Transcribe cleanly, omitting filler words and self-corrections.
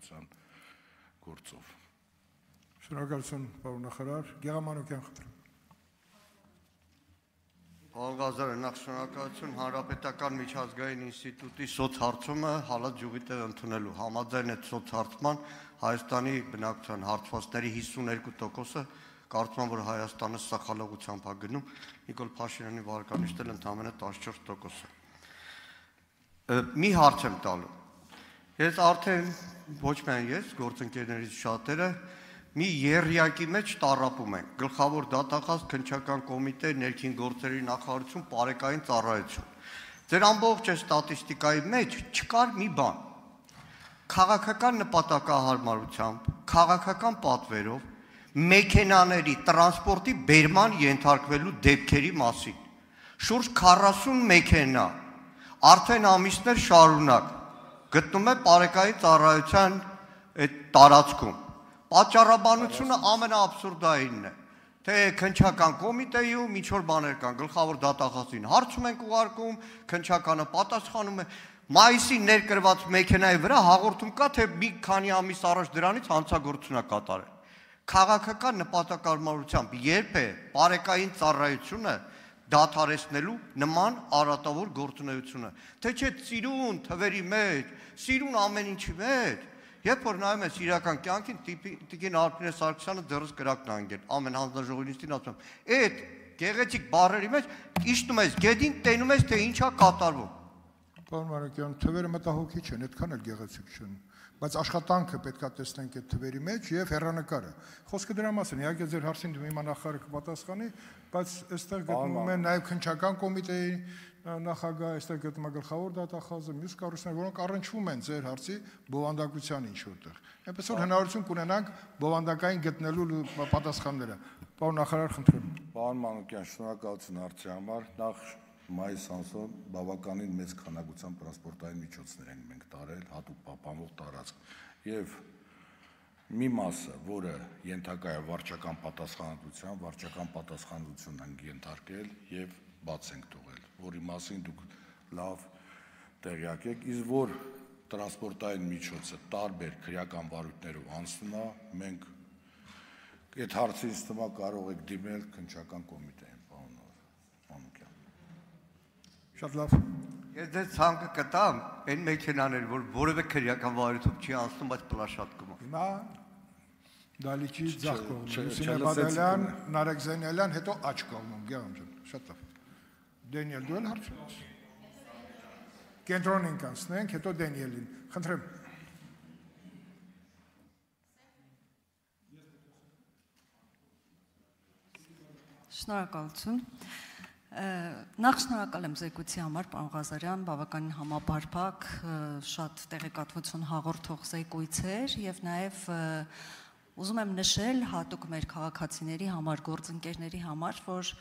ծառայության գործով։ Շնորհակալություն, պարոն նախարար, Գեղամանուկյան խնդրում։ Պարոն Ղազարյան, նախ շնորհակալություն Հանրապետական միջազգային ինստիտուտի սոցհարցումը հալած ջուղի տեղ ընդունելու։ Համաձայն այդ սոցհարցման Հայաստանի բնակչության հարցվածների 52%-ը կարծում եմ, որ Հայաստանը սխալողությամբ է գնում, Նիկոլ Փաշինյանի վարկանիշն էլ ընդամենը 14%։ Մի հարց եմ տալու։ Ես արդեն ոչ միայն ես, գործընկերներից շատերը մի եռյակի մեջ տառապում ենք։ Գլխավոր դատախազ քննչական կոմիտե, ներքին գործերի նախարարություն, պարեկային ծառայություն։ Ձեր ամբողջ ստատիստիկայի մեջ չկար մի բան։ Քաղաքական նպատակահարմարությամբ, քաղաքական պատվերով մեքենաների տրանսպորտի բերման ենթարկվելու դեպքերի մասին։ Շուրջ 40 մեքենա արդեն ամիսներ շարունակ գտնում է պարեկային ծառայության այդ տարածքում։ Պատճառաբանությունը ամենաաբսուրդայինն է, թե քննչական կոմիտեում ինչ-որ բաներ կան, գլխավոր դատախազին հարցում ենք ուղարկում, քննչականը պատասխանում է։ Մայիսի ներկրված մեքենայի վրա հաղորդում կա, թե մի քանի ամիս առաջ դրանից հանցագործություն է կատարել։ Քաղաքական նպատակարարությամբ երբ է պարեկային ծառայությունը դադարեցնելու նման արատավոր գործունեությունը, թե չէ ծիրուն թվերի մեջ, սիրուն ամեն ինչի մեջ, երբ որ նայում ես իրական կյանքին, տիկին Արփինե Սարգսյանը դեռս կրակն անգել, ամեն հանձնաժողովի նիստին ասում, այդ գեղեցիկ բառերի մեջ իջնում ես գետին, տենում ես, թե ինչ է կատարվում։ Պարոն Մանուկյան, թվերը մտահոգիչ են, այդքան էլ գեղեցիկ չեն, բայց աշխատանքը պետք է տեսնենք այդ թվերի մեջ եւ հեռանկարը։ Խոսքը դրա մասին, իհարկե ձեր հարցին դու հիմա նախարարը կպատասխանի, բայց այստեղ գտնվում են նաեւ քննչական կոմիտեի նախագահ, այստեղ գտնվում է գլխավոր դատախազը, մյուս կառույցներ, որոնք առնչվում են ձեր հարցի բովանդակության ինչ որտեղ։ Այնպես որ հնարավորություն կունենանք բովանդակային գտնելու պատասխանները։ Պարոն նախարար, խնդրեմ։ Պարոն Մանուկյան, շնորհակալություն հարցի համար։ Նախ մայիս ամսում բավականին մեծ քանակությամբ տրանսպորտային միջոցներ ենք մենք տարել, հատուկ պահպանվող տարածք։ Եվ մի մասը, որը ենթակա է վարչական պատասխանատվություն ենք ենթարկել եւ բաց ենք թողել, որի մասին դուք լավ տեղյակ եք, իսկ որ տրանսպորտային միջոցը տարբեր քրեական վարույթներով անցնում է, մենք այդ հարցին ստումա կարող եք դիմել քննչական կոմիտեին, պարոն Մանուկյան։ Շատ լավ։ Ես դες ցանկը կտամ այն մեքենաներ, որ որևէ քրեական վարույթով չի անցնում, բայց պլաշատկում է։ Հիմա Դալիչի ձախ կողմում, Լուսինե Բադալյան, Նարեկ Զենյալյան, հետո աջ կողմում, Գեղամ ջան, շատ լավ։ Դենիել, դու էլ հարցում ես։ Կենտրոնին կանցնենք, հետո Դենիելին, խնդրեմ։ Շնորհակալություն։ Նախ շնորհակալ եմ զեկույցի համար, պարոն Ղազարյան, բավականին համապարփակ, շատ տեղեկատվություն հաղորդող զեկույց էր եւ նաեւ ուզում եմ նշել հատուկ մեր քաղաքացիների համար, գործընկերների համար, որ